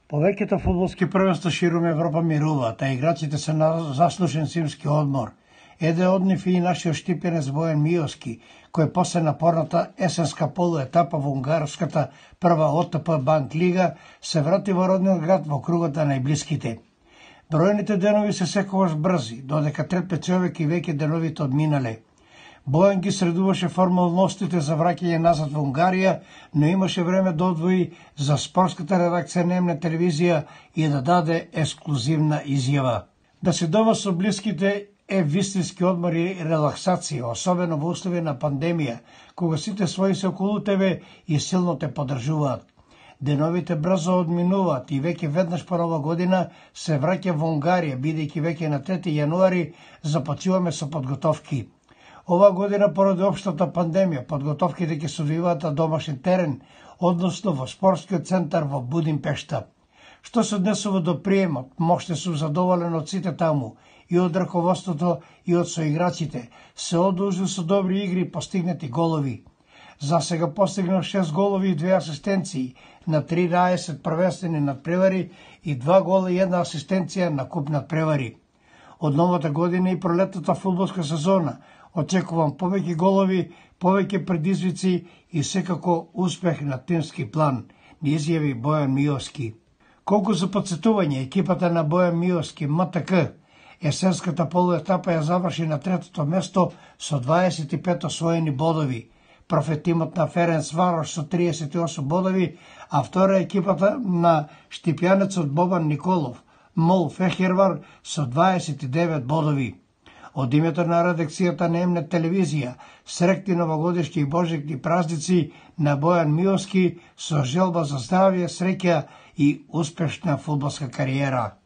Повеќето фудбалски првенства ширум Европа мируваат, а играчите се на заслужен зимски одмор. Еден од нив и нашиот штипенец Бојан Миовски, кој после напорната есенска полуетапа во унгарската прва ОТП Банк Лига се врати во родниот град во кругот на најблиските. Бројните денови се секогаш брзи, додека трепе човек и веќе деновите одминале. Бојан ги средуваше формалностите за враќање назад во Унгарија, но имаше време да одвои за спортската редакција на МН телевизија и да даде ексклузивна изјава. Да се дома со блиските е вистински одмор и релаксација, особено во услови на пандемија, кога сите своји се околу тебе и силно те поддржуваат. Деновите брзо одминуваат и веќе веднаш по нова година се враќа во Унгарија, бидејќи веќе на 3 јануари започнуваме со подготовки. Ова година, поради општата пандемија, подготовките ќе се одвиваат на домашен терен, односно во спортскиот центар во Будимпешта. Што се однесува до приемот, можете сум задоволен од сите таму, и од раководството, и од соиграчите. Се одолжи со добри игри и постигнати голови. За сега постигнав 6 голови и 2 асистенции на 13 првенствени надпревари и 2 гола и 1 асистенција на куп надпревари. Од новата година и пролетната фудбалска сезона очекувам повеќе голови, повеќе предизвици и секако успех на тимски план, ни изјави Бојан Миовски. Колку за подсетување, екипата на Бојан Миовски, МТК, есенската полуетапа ја заврши на 3-то место со 25 освоени бодови. Профетимот на Ференц Варош со 38 бодови, а втора екипата на штипјанецот Бобан Николов, Мол Фехервар со 29 бодови. Од името на редакцијата на МН телевизија, среќни новогодишни и божикни празници на Бојан Миовски со желба за здравје, среќа и успешна фудбалска кариера.